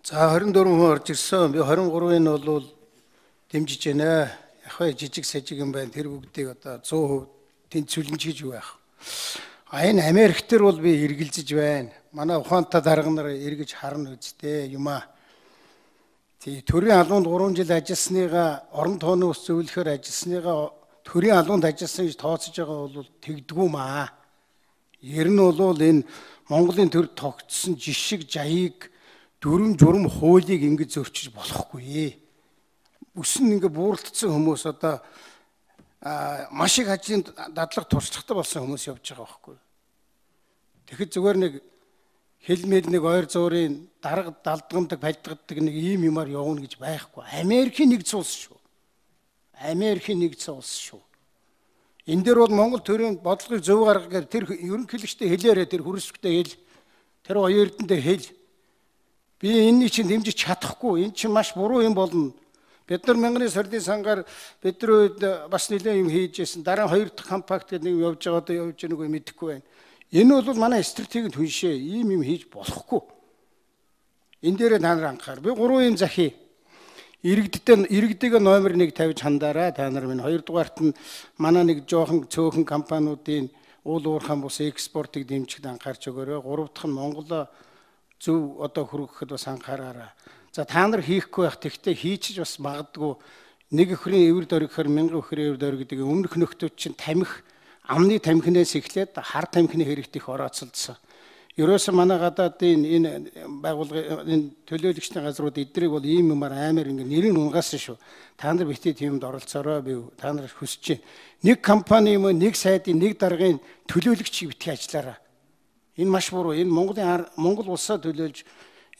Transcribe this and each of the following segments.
За 24 хүн орж ирсэн. Би 23-ыг нь бол дэмжиж байна. Яг хөө жижиг сажиг юм байна. Тэр бүгдийг одоо 100% тэнцвүүлж юу байх. Энэ Америк төр бол би эргэлзэж байна. Манай ухаантай дарга нар эргэж харна үсттэй юм аа. Тий төрийн албанд 3 жил ажилласныгаа орон тооны ус зөвлөхөр ажилласныгаа төрийн албанд ажилласан гэж тооцож байгаа бол тэгдгүү маа. Ер нь бол энэ Монголын төр тогтсон жишг жаяыг дүрм журм хуулийг ингэж зөрчиж болохгүй. Өсөн ингэ бууралдсан хүмүүс одоо маш их ажлын дадлага туршлагатай болсон хүмүүс явж байгаа байхгүй. Тэгэхэд зүгээр нэг хэлмэл нэг ойр зуурын дарга далдгамдаг пальдгадаг нэг ийм юмар явна гэж байхгүй. Америкийн нэгдсэн улс шүү. Америкийн нэгдсэн улс шүү. Энэ дээр бол Монгол төрийн бодлогыг зөв гаргагаар тэр ерөнхийлөгчтэй хэлээрээ тэр хүрээсвчтэй хэл тэр хоёр эрдэндээ хэл. Би энэний чинь дэмжиж чадахгүй. Энэ чинь маш буруу юм болно. Бид нар мянганы сордын сангаар бидний үед бас нэлээд юм хийжсэн. Дараа хоёр дахь компакт гэдэг нэг явж байгаа одоо явж байгааг мэдэхгүй байна. Энэ бол манай стратегийн түншээ. Ийм юм хийж болохгүй. Энэ дээрээ та нар анхаар. Би 3 юм захий. Иргэдээ номер 1 тавьж хандаарай. Та нар минь хоёрдугаарт нь манай нэг жоохон цөөхөн компаниудын уул уурхайн бус экспортыг дэмжихэд анхаарч өгөөрэй. 3 дахь нь Монголоо зөв одоо хөргөхөд бас анхаараарай. За та нар хийхгүй байх тэгтээ хийчих бас магадгүй нэг өхрийн эвэр дөргөхөр 1000 өхрийн эвэр дөрг гэдэг өмнөх нөхдүүд чинь тамхи амны тамхинаас эхлээд хар тамхины хэрэгт их орооцолдсон. Ерөөсөө манай гадаадын энэ байгууллагын энэ төлөөлөгчдийн газрууд эднийг бол ийм юмар амар ингэ нэрийн унгасан шүү. Та нар битээ тиймд оролцоорой би та нар хүсэж байна. Нэг компани юм нэг сайдын нэг даргын төлөөлөгчийг битгий ажиллаарай. Энэ маш буруу. Энэ Монгол улсаа төлөөлж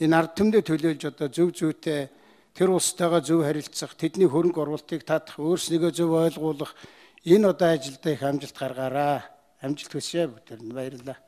энэ ард түмдээ төлөөлж одоо зөв зүйтэй тэр улстайгаа зөв харилцах, тэдний хөрөнгө оруулалтыг татах, өөрснийгөө зөв ойлгуулах энэ одоо ажилдаа их амжилт гаргаарай. Амжилт хүсье бүгдээр нь баярлалаа.